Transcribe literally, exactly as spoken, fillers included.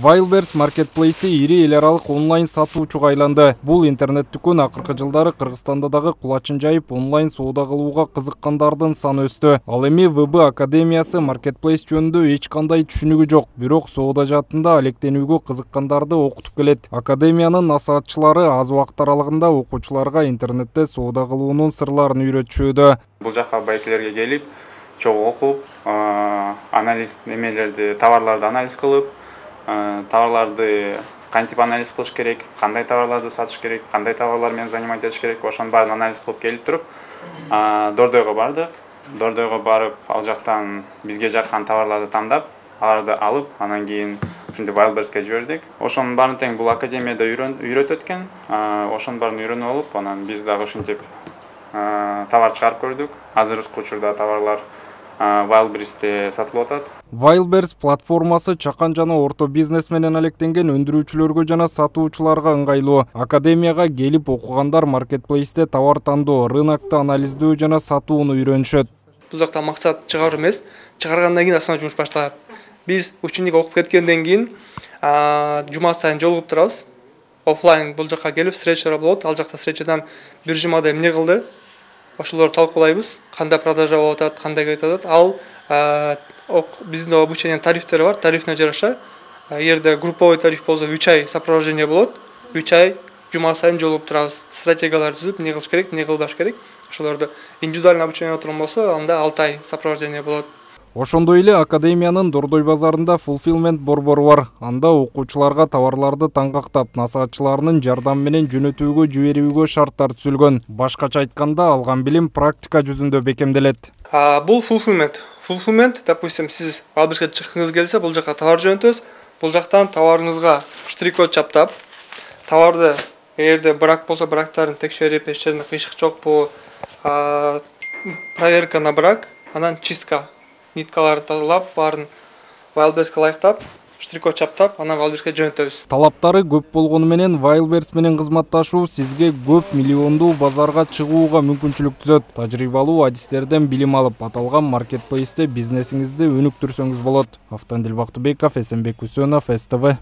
Wildberries Marketplace ири эл аралык онлайн сатуучуга айланды. Бул интернет дүкөн акыркы жылдары Кыргызстанда дагы кулачын жайып онлайн соода кылууга кызыккандардын саны өстү. Ал эми вэ бэ Академиясы Marketplace жөнүндө эч кандай түшүнүгү жок, бирок соода жаатында алектенүүгө кызыккандарды окутуп келет. Академиянын насаатчылары аз убакыт аралыгында окуучуларга интернетте соода кылуунун сырларын үйрөтүшүүдө. Бул жака байкелерге келип, чогуу окуп, анализ немелерди, товарларды анализ кылып, товарларды кантип анализ кылыш керек, кандай товарларды сатыш керек, кандай товарлар менен занимать этиш керек, ошонун баарын анализ кылып келип туруп, Дордойго бардык. Дордойго барып, ал жактан бизге жаккан товарларды тандап, аларды алып, анан кийин ушинтип Wildberriesке жибердик. Ошонун баарын тең бул академияда үйрөтүп өткөн. Ошонун баарын үйрөнүп алып, анан биз дагы ушинтип товар чыгарып көрдүк. Азыркы учурда товарлар Wildberriesте сатылып атат. Wildberries платформасы чакан жана орто бизнес менен алектенген өндүрүүчүлөргө жана сатуучуларга ыңгайлуу. Академияга келип окугандар Marketplace'те товар тандоо, рынокто анализдөө жана сатууну үйрөнүшөт. Бул жакта максат чыгаруу эмес, чыгаргандан кийин асана жумуш башталат. Биз ученик окуп кеткенден кийин жума сайын жолугуп турабыз. Оффлайн бул жакка келип встречалар болот. Ал жакта встречадан бир жумада эмне кылды? Ошолорду талкуулайбыз. Кандай продажа болуп атат, кандай кетип атат. Ал биздин обучениянын тарифтери бар. Тарифине жараша, эгерде групповой тариф болсо үч ай сопровождение болот. үч ай жума сайын жолугуп турабыз. Стратегиялар түзүп, эмне кылыш керек, эмне кылбаш керек. Ошолорду индивидуальный обучение отурум болсо, анда алты ай сопровождение болот. Ошондой эле Академиянын Дордой базарында fulfillment борбору бар. Анда окуучуларга товарларды таңгактап, насаатчыларынын жардамы менен жөнөтүүгө жиберүүгө шарттар түзүлгөн. Башкача айтканда, алган билим практика жүзүндө бекемделет. Бул fulfillment. Fulfillment, допустим, сиз Wildberriesке чыккыңыз келсе, бул жака товар жөнөтөбүз. Бул жактан товарыңызга штрих-код чаптап, товарды эгерде брак болсо, брактарын текшерип, эч жеринде кыйшык жокпу, проверка на брак, анан чистка. Ниткаларды тазалап, баарын Wildberriesке ылайыктап, штрих-код чаптап, анан Wildberriesке жөнөтөбүз. Талаптары көп болгону менен Wildberries менен кызматташуу сизге көп миллиондуу базарга чыгууга мүмкүнчүлүк түзөт. Тажрыйбалуу адистерден билим алып, аталган Marketplace'те бизнесиңизди өнүктүрсөңүз болот. Автандил Бактыбеков, Эсенбек Үсөнов, эс тэ вэ.